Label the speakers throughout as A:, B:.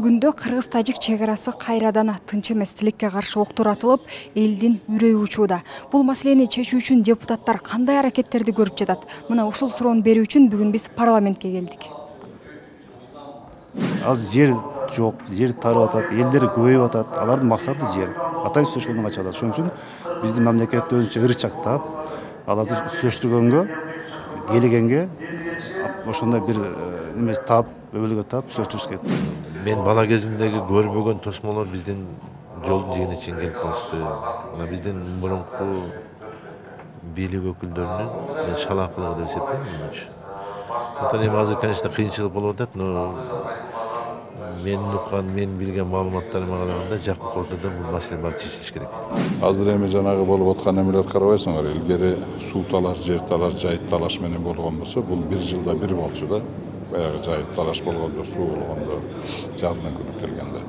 A: күндө кыргыз-тажик чек арасы кайрадан тынч эмес, тилекке каршы октор атылып, элдин үрөйү учууда. Бул маселени чечүү үчүн депутаттар кандай аракеттерди көрүп жатат? Мына ушул суроону берүү үчүн бүгүн биз парламентке келдик.
B: Азыр жер жок, жер тарап атат, элдер көбөйүп атат. Алардын максаты жер. Атайын сөзгөнүн качалат. Ошон үчүн биздин мамлекет өзүнчө ырычактап, аларды сүйлөштүргөнгө, келгенге ошондой бир неме таап, өбөлгө таап сүйлөштүрүш керек.
C: Мен бала кезимдеги көрбөгөн тосмолор биздин жолдун жигине чейин келип калышты. Мына биздин мурунку бийлик өкүлдөрүнүн мен шалаакылыгы деп эсептейм менимче. Сондықтан эми азыр, конечно, кыйынчылык болуп атат, но мен уккан, мен билген маалыматтарыма караганда жакын ордодо бул маселе баары чечилиш керек.
D: Азыр эми жанагы болуп аткан эмелер карабайсыңар, илгери суу талаш, жер талаш, жайыт талаш менен болгон болсо, бул бир жылда бир болчу да. Баягы жайыт талаш болгондо, суу болгондо, жаздын күнү келгенде.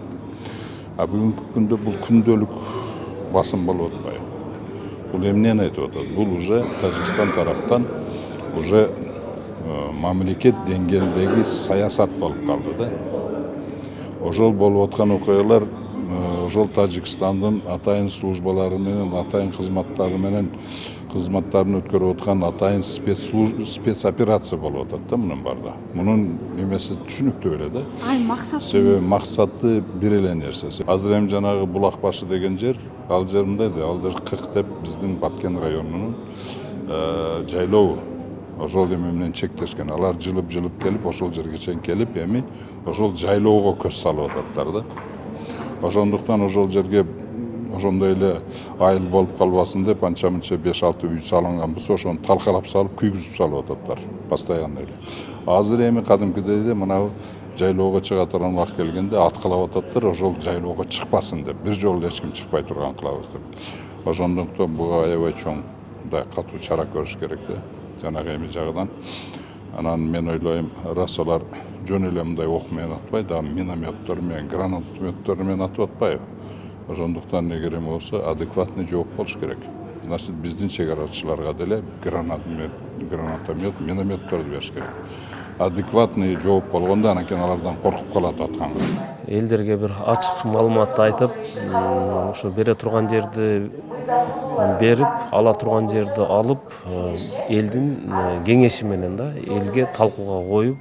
D: А бүгүнкү күндө бул күндөлүк басым болуп атпайбы? Бул эмнени айтып атат? Бул уже Тажикстан тараптан уже мамлекет деңгээлдеги саясат болуп калды да. Ошол болуп аткан окуялар ошол Тажикстандын атайын службалары менен, атайын кызматтары менен кызматтарын өткөрүп аткан атайын спецоперация болуп атат да мунун баарда. Мунун немеси түшүнүктүү эле да.
A: Максаты?
D: Себеби максаты бир эле нерсе. Азыр эми жанагы Булак башы деген жер, ал жер мындай да, ал жер Кык деп биздин Баткен районунун жайлоо. Ошол эме менен чектешкен. Алар жылып келип, ошол жерге чейин келип, эми ошол жайлоого көз салып ататтар да. Ошондуктан ошол жерге ошондой эле айыл болуп калбасын деп анча-мынча 5-6 үй салынган болсо, ошону талкалап салып, күйгүзүп салып ататтар постоянно эле. Азыр эми кадимкидей эле мына жайлоого чыга турган убакыт келгенде аткылап ататтар, ошол жайлоого чыкпасын деп, бир жолу эч ким чыкпай турган кылабыз деп. Ошондуктан буга аябай чоң мындай катуу чара көрүш керек да. Жанагы эми жагынан. Анан мен ойлойм, раз алар жөн эле мындай ок менен атпайт, а минометтор менен, гранатометтор менен атып атпайбы. Ошондуктан эгер эме болсо адекватный жооп болуш керек. Значит, биздин чек арачыларга деле гранатомет, минометторду бериш керек. Адекватный жооп болгондо анан алардан коркуп калат атканга.
E: Элдерге бир ачык маалыматты айтып, ошо бере турган жерди берип, ала турган жерди алып, элдин кеңеши менен да, элге талкууга коюп,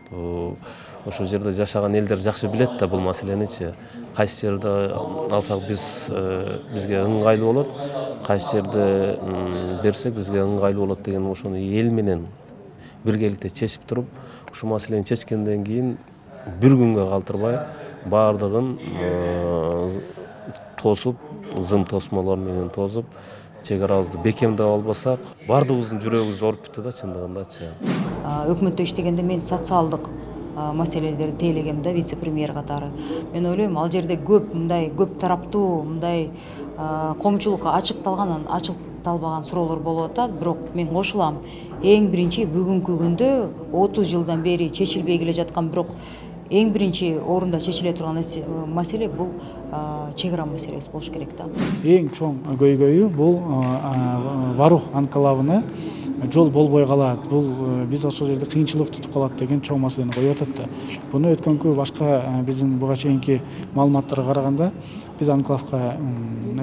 E: ошол жерде жашаган элдер жакшы билет да бул маселеничи. Кайсы жерде алсак бизге ыңгайлуу болот, кайсы жерде берсек бизге ыңгайлуу болот деген ошону эл менен биргеликте чечип туруп, ушул маселени чечкенден кийин бир күнгө калтырбай баардыгын тосуп, зым тосмолор менен тосуп, чек арабызды бекемдеп албасак, баардыгыбыздын жүрөгүбүз ооруп бүттү да чындыгындачы.
F: Өкмөттө иштегенде мен социалдык маселелерди тейлегем да, вице-премьер катары. Мен ойлойм, ал жерде көп тараптуу, мындай коомчулукка ачыкталган, ачыкталбаган суроолор болуп атат, бирок мен кошулам. Эң биринчи бүгүнкү күндө 30 жылдан бери чечилбей келе жаткан, бирок эң биринчи орунда чечиле турган маселе бул чек ара маселеси болуш керек да.
G: Эң чоң көйгөйү бул Варух анклавына жол болбой калат. Бул биз ошол жерде кыйынчылык тутуп калат деген чоң маселени коюп атат да. Буну өткөнкү башка биздин буга чейинки маалыматтарга караганда биз анклавга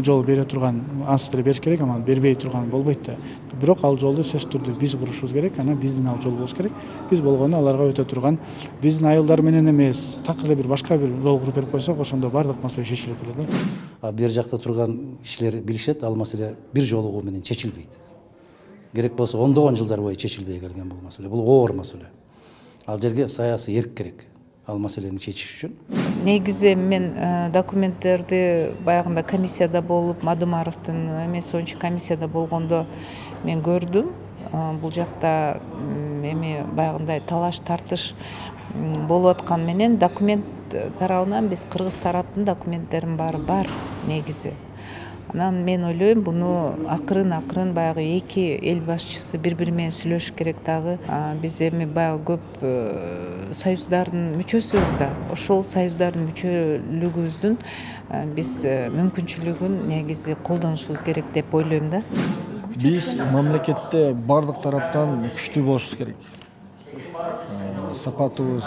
G: жол бере турган ансы деле бериш керек, анан бербей турган болбойт да. Бирок ал жолду сөзсүз түрдө биз курушубуз керек, анан биздин ал жол болуш керек. Биз болгону аларга өтө турган биздин айылдар менен эмес, так эле бир башка бир жол куруп берип койсок, ошондо бардык маселе чечилет эле да.
H: Бер жакта турган кишилер билишет, ал маселе бир жолугу менен чечилбейт. Керек болсо ондогон жылдар бою чечилбей келген бул маселе. Бул оор маселе. Ал жерге саясий эрк керек. Ал маселени чечиш үчүн.
I: Негизи мен документтерди баягында комиссияда болуп, Мадумаровдун эмеси комиссияда болгондо мен көрдүм. Бул жакта эми баягындай талаш тартыш болуп аткан менен документ тарабынан биз кыргыз тараптын документтеринин баары бар негизи. Анан мен ойлойм, буну акырын баягы эки эл башчысы бири менен сүйлөшүш керек дагы. Биз эми баягы көп союздардын мүчөсүбүз да. Ошол союздардын мүчөлүгүбүздүн биз мүмкүнчүлүгүн негизи колдонушубуз керек деп ойлойм да.
J: Биз мамлекетте бардык тараптан күчтүү болушубуз керек. Сапатыбыз,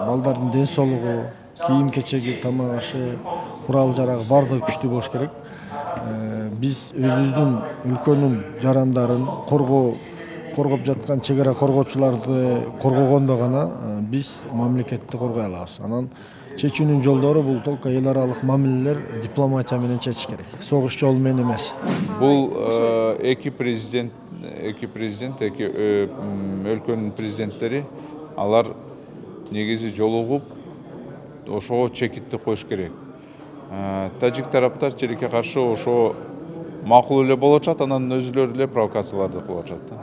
J: балдардын ден соолугу, кийим кечеги, тамак ашы, курал жарагы баардыгы күчтүү болуш керек. Биз өзүбүздүн өлкөнүн жарандарын коргоп жаткан чек ара коргоочуларды коргогондо гана биз мамлекетти коргой алабыз. Анан чечүүнүн жолдору бул только эл аралык мамилелер дипломатия менен чечиш керек. Согуш жолу менен эмес.
D: Бул эки президент, эки өлкөнүн президенттери алар негизи жолугуп ошого чекитти коюш керек. Тажик тараптар тилекке каршы ошо макул эле болуп атат, анан өзүлөрү эле провокацияларды кылып атышат да.